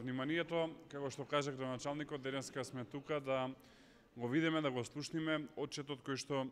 вниманието. Како што кажа градоначалникот, денеска сме тука да го видиме, да го слушниме отчетот кој што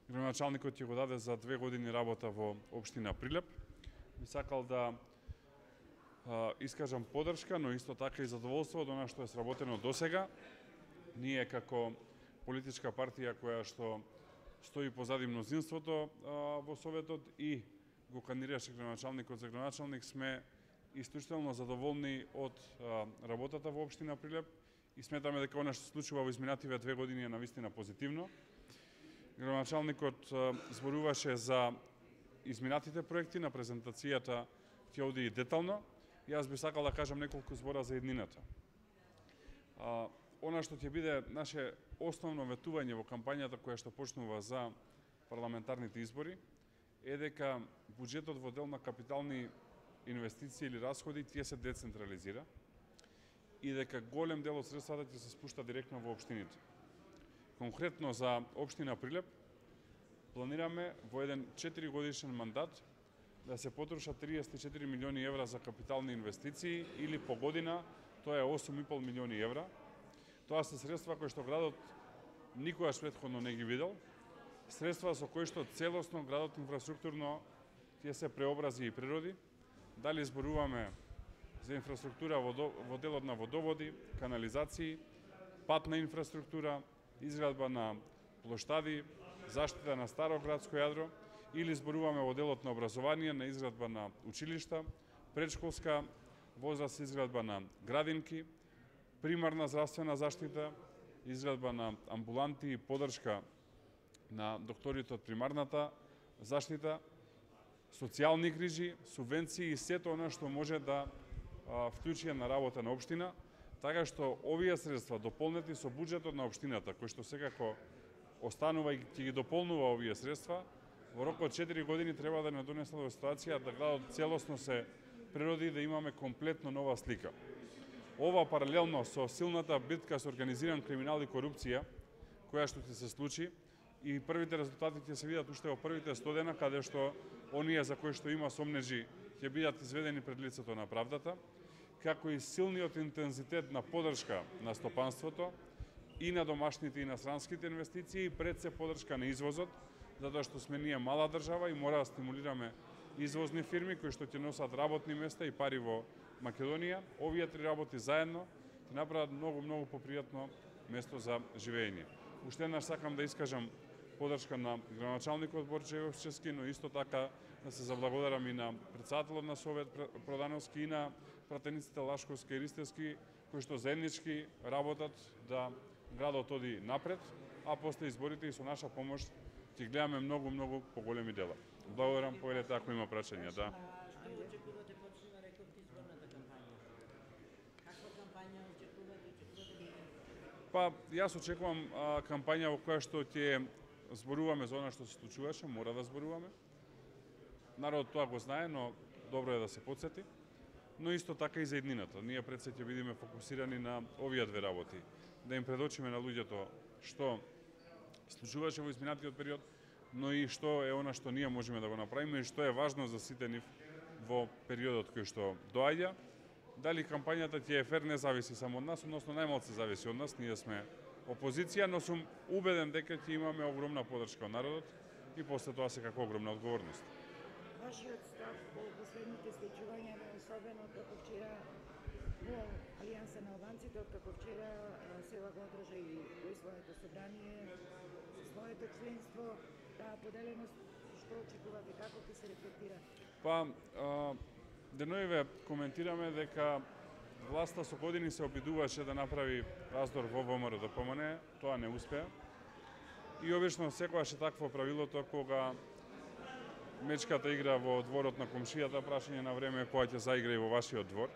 градоначалникот ќе го даде за 2 години работа во општина Прилеп. Би сакал да искажам поддршка, но исто така и задоволство од она што е сработено досега. Ние како политичка партија која што стои позади мнозинството во Советот и го кандидираше градоначалникот за градоначалник, сме исклучително задоволни од работата во општина Прилеп и сметаме дека она што се случува во изминативе 2 години е навистина позитивно. Градоначалникот зборуваше за изминатите проекти, на презентацијата ќе оди и детално. Јас би сакал да кажам неколку збора за иднината. Она што ќе биде наше основно ветување во кампањата која што почнува за парламентарните избори е дека буџетот во дел на капитални инвестиции или расходи тие се децентрализира и дека голем дел од средствата ќе се спушта директно во општините. Конкретно за општина Прилеп планираме во еден 4-годишен мандат да се потрошат 34 милиони евра за капитални инвестиции или по година тоа е 8,5 милиони евра. Тоа се средства кои што градот никогаш претходно не ги видел. Средства со кои што целосно градот инфраструктурно ќе се преобрази и природи. Дали зборуваме за инфраструктура во делот на водоводи, канализации, патна инфраструктура, изградба на плоштади, заштита на старо градско јадро, или зборуваме во делот на образование, на изградба на училишта, предшколска возраст, изградба на градинки, примарна здравствена заштита, изградба на амбуланти и поддршка на докторите од примарната заштита, социјални грижи, субвенции и сето она што може да вклучи на работа на општина, така што овие средства дополнети со буџетот на општината, кој што секако останува и ќе ги дополнува овие средства, во рок од 4 години треба да не донесе до ситуација да градот целосно се природи и да имаме комплетно нова слика. Ова паралелно со силната битка со организиран криминал и корупција, која што ќе се случи, и првите резултати ќе се видат уште во првите 100 дена, каде што оние за кои што има сомнежи ќе бидат изведени пред лицето на правдата, како и силниот интензитет на поддршка на стопанството и на домашните и на странските инвестиции, пред се поддршка на извозот, затоа што сме ние мала држава и мора да стимулираме извозни фирми кои што ќе носат работни места и пари во Македонија. Овие три работи заедно ќе направат многу попријатно место за живење. Уште еднаш сакам да искажам поддршка на градоначалникот Борче Јовчевски, но исто така да се заблагодарам и на претседателот на Совет Продановски и на пратениците Лашковски и Ристевски, кои што заеднички работат да градот оди напред, а после изборите и со наша помош ќе гледаме многу поголеми дела. Благодарам, повелете ако има прашања, да. Што очекувате почнува рекорд изборната кампања? Каква кампања очекувате? Па, јас очекувам кампања во која што ќе зборуваме за она што се случуваше, мора да зборуваме. Народот тоа го знае, но добро е да се потсети. Но исто така и за иднината. Ние пред се ќе бидеме фокусирани на овие две работи. Да им предочиме на луѓето што случуваше во изминатиот период, но и што е она што ние можеме да го направиме и што е важно за сите нив во периодот кој што доаѓа. Дали кампањата ќе е фер не зависи само од нас, односно најмалку зависи од нас, ние сме опозиција, но сум убеден дека ќе имаме огромна поддршка од народот и после тоа секако огромна одговорност. Вашиот став по последните случувања, особено како вчера во Алијанса на албанците, како вчера Сева го одржа и во своето собрание, со своето членство, таа поделеност, што очекувате, како ќе се рефлектира? Па, деноиве коментираме дека власта со години се обидуваше да направи раздор во ВМРО ДПМН, тоа не успеа. И обично секогаш е такво правилото кога мечката игра во дворот на комшијата, прашање на време која ќе заигра и во вашиот двор.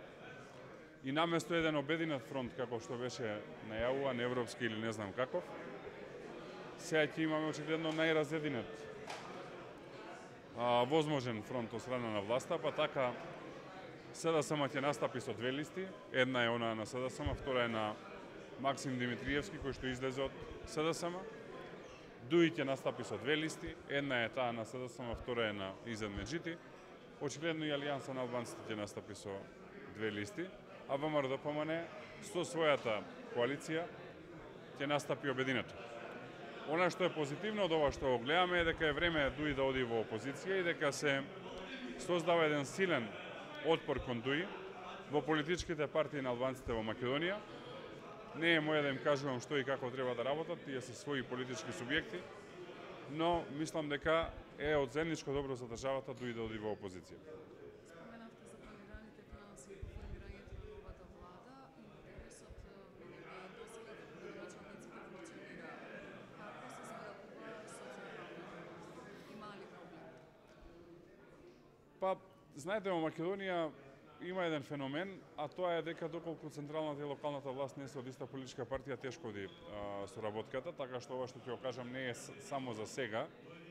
И наместо еден обединет фронт, како што беше најавуван, европски или не знам каков, сега ќе имаме очигледно најразединет возможен фронт од страна на власта, па така СДСМ ќе настапи со 2 листи. Една е она на СДСМ, втора е на Максим Димитриевски, кој што излезе од СДСМ. ДУИ ќе настапи со 2 листи. Една е таа на СДСМ, втора е на Изет Меджити. Очигледно и Алијанса на албанците ќе настапи со 2 листи. а ВМРО-ДПМН со својата коалиција ќе настапи обединето. Она што е позитивно од ова што го гледаме е дека е време Дуи да оди во опозиција и дека се создава еден силен отпор кон Дуи во политичките партии на албанците во Македонија. Не е моја да им кажувам што и како треба да работат, тие се своји политички субјекти, но мислам дека е од заедничко добро за државата Дуи да оди во опозиција. Споменавте за планираните финанси по формирањето на новата влада. Интересот мене е досега како градоначалниците функционира. Како се справува со централната? Има ли проблем? Па, знаете, во Македонија има еден феномен, а тоа е дека доколку централната и локалната власт не се од иста политичка партија, тешко оди соработката, така што ова што ќе го кажам не е само за сега,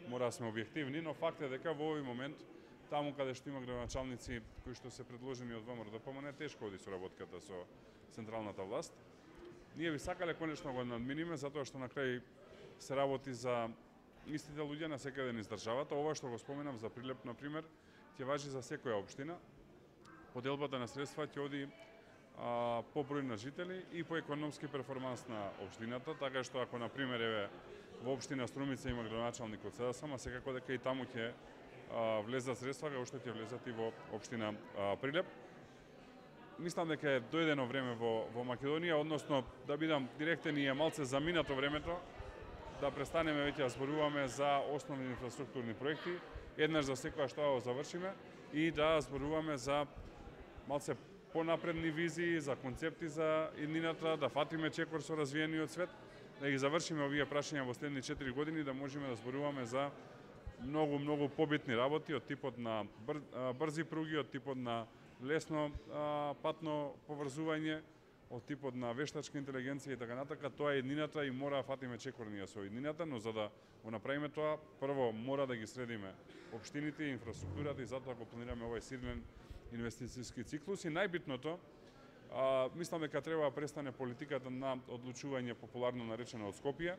мора да сме објективни, но факт е дека во овој момент, таму каде што има градоначалници кои што се предложени од ВМРО-ДПМН, тешко оди соработката со централната власт. Ние би сакале конечно го надминиме, затоа што на крај се работи за истите луѓе на секаде низ државата. Ова што го споменав за Прилеп, например, ќе важи за секоја општина. Поделбата на средства ќе оди по број на жители и по економски перформанс на општината, така што ако например еве во општина Струмица има градоначалник од СДСМ, секако дека и таму ќе влезат средства како што ќе влезат и во општина Прилеп. Мислам дека е дојдено време во Македонија, односно да бидам директен и е малце заминато времето да престанеме веќе да зборуваме за основни инфраструктурни проекти, еднаш за секоја што го завршиме и да зборуваме за малце понапредни визии, за концепти за иднината, да фатиме чекор со развиениот свет, да ги завршиме овие прашања во следни 4 години, да можеме да зборуваме за многу побитни работи од типот на брзи пруги, од типот на лесно патно поврзување, од типот на вештачка интелигенција и така натака. Тоа е иднината и мора да фатиме чекор ние со иднината, но за да го направиме тоа, прво мора да ги средиме општините и инфраструктурата и затоа го планираме овој силен инвестицијски циклус и најбитното, мислам дека треба да престане политиката на одлучување популарно наречено од Скопје.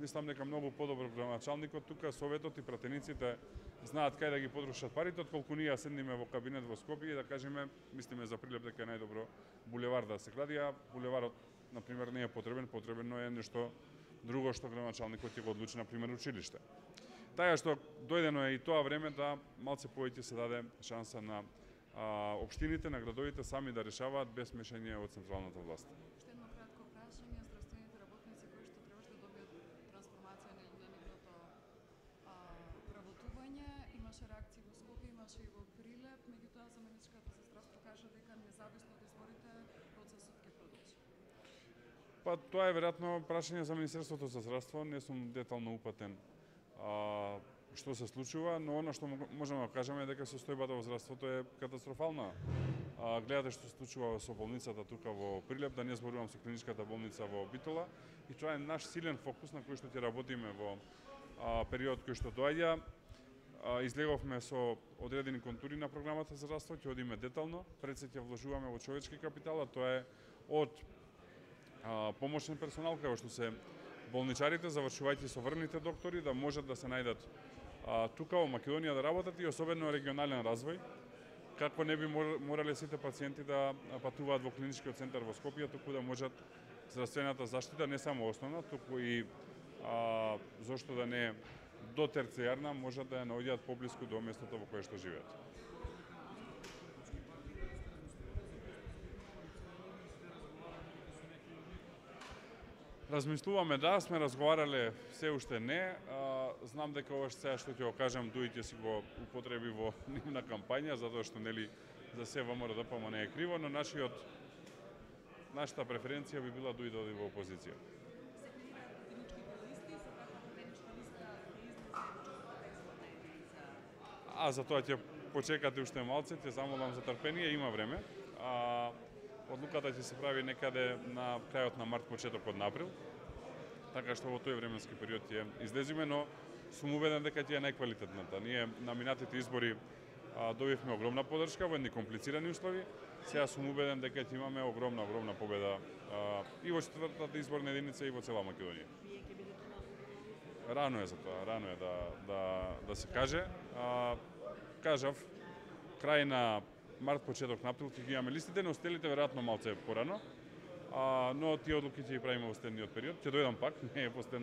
Мислам дека многу подобро градоначалникот тука, советот и пратениците знаат кај да ги потрошат парите, отколку ние седниме во кабинет во Скопје и да кажеме, мислиме за Прилеп дека е најдобро булевар да се гради, а булеварот например не е потребно е нешто друго што градоначалникот ќе го одлучи, например училиште. Така што дојдено е и тоа време да малце повеќе се даде шанса на општините, на градовите сами да решаваат без мешање од централната власт. Уште едно кратко прашање, здравствените работници кои што требаше да добијат трансформација на нивното вработување, имаше реакции во Скопје, имаше и во Прилеп, меѓутоа заменичката за здравство кажа дека независно од изборите процесот ќе продолжи. Па тоа е веројатно прашање за Министерството за здравство, не сум детално упатен што се случува, но она што можеме да кажеме е дека состојбата во здравството е катастрофална. Гледате што се случува со болницата тука во Прилеп, да не зборувам со клиничката болница во Битола, и тоа е наш силен фокус на кој што ќе работиме во период кој што доаѓа. Излеговме со одредени контури на програмата за здравство, ќе одиме детално, пред се ќе вложуваме во човечки капитал, а тоа е од помошен персонал, како што се болничарите, завршувајќи со врвните доктори, да можат да се најдат тука во Македонија да работат и особено регионален развој, како не би морале сите пациенти да патуваат во клиничкиот центар во Скопје, туку да можат здравствената заштита, не само основна, туку и зошто да не до терцијарна, можат да ја наоѓаат поблиску до местото во кое што живеат. Размислуваме, да, сме разговарале, се уште не. Знам дека ова сега што ќе го кажам, Дуи ќе си го употреби во нивна кампања, затоа што нели за се ВМРО-ДПМН не е криво, но нашата преференција би била Дуи да оди во опозиција. За тоа ќе почекате уште малце, ќе замолам за трпение, има време. Одлуката ќе се прави некаде на крајот на март, почетокот на април, така што во тој временски период ќе излезиме, но сум убеден дека ќе е најквалитетната. Ние на минатите избори добивме огромна поддршка во едни комплицирани услови, сега сум убеден дека ќе имаме огромна победа и во четвртата изборна единица и во цела Македонија. Рано е за тоа, рано е да се каже. Кажав, крај на март, почеток на април ќе ги имаме листите, но остелите веројатно малце порано. Но тие одлуки ќе ги правиме во следниот период. Ќе дојдам пак, не е последно.